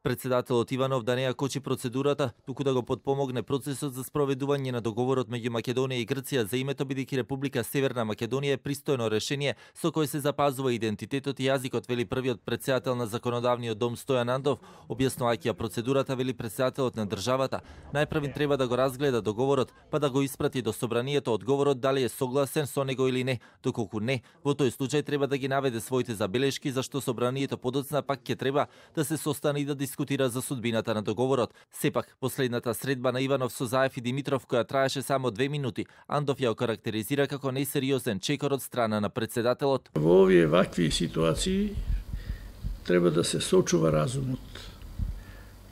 Председателот Иванов да не ја кочи процедурата, туку да го потпомогне процесот за спроведување на договорот меѓу Македонија и Грција за името, бидејќи Република Северна Македонија е пристојно решение со кое се запазува идентитетот и јазикот, вели првиот председател на законодавниот дом Стојан Андов, објаснувајќи ја процедурата, вели председателот на државата. Најпрвин треба да го разгледа договорот, па да го испрати до собранието одговорот дали е согласен со него или не. Доколку не, во тој случај треба да ги наведе своите забелешки, зашто собранието подоцна пак ќе треба да се состане и да дискутира за судбината на договорот. Сепак, последната средба на Иванов со Заев и Димитров, која траеше само 2 минути, Андов ја окарактеризира како несериозен чекор од страна на председателот. Во овие вакви ситуации треба да се сочува разумот.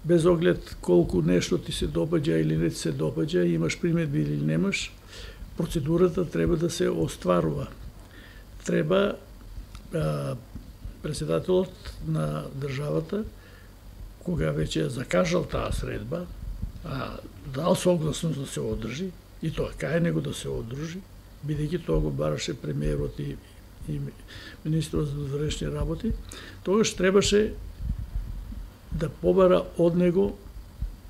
Без оглед колку нешто ти се допаѓа или не ти се допаѓа, имаш примедби или немаш, процедурата треба да се остварува. Треба председателот на државата, кога веќе закажал таа средба, дал согласност да се одржи, и тоа кај него да се одржи, бидејќи тоа го бараше премиерот и министрот за внатрешни работи, тогаш требаше да побара од него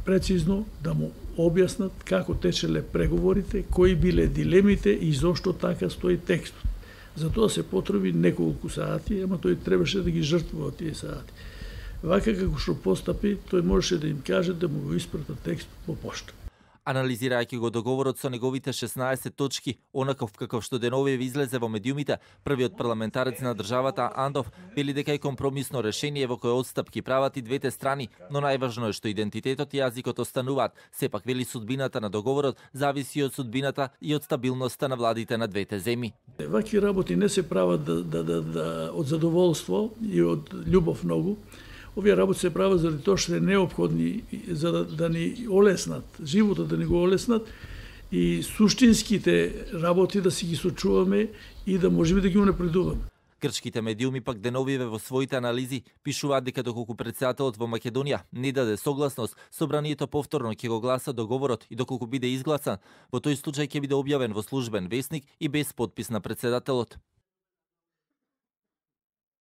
прецизно да му објаснат како течеле преговорите, кои биле дилемите и зошто така стои текстот. За тоа се потреби неколку сати, ама тој требаше да ги жртвува тие сати. Вака како што постапи, тој можеше да им каже да му го испрата текст по пошта. Анализирајќи го договорот со неговите 16 точки, онаков каков што деновиве излезе во медиумите, првиот парламентарец на државата Андов вели дека е компромисно решение во кое отстапки прават и двете страни, но најважно е што идентитетот и јазикот остануваат. Сепак вели судбината на договорот зависи од судбината и од стабилноста на владите на двете земји. Вакви работи не се прават од задоволство и од љубов многу. Овие работи се прават заради тоа што е неопходни за да ни олеснат, животот да ни го олеснат и суштинските работи да си ги сочуваме и да можеме да ги унапредуваме. Грчките медиуми пак деновиве во своите анализи пишуваат дека доколку председателот во Македонија не даде согласност, собранието повторно ќе го гласа договорот и доколку биде изгласан, во тој случај ќе биде објавен во службен весник и без подпис на председателот.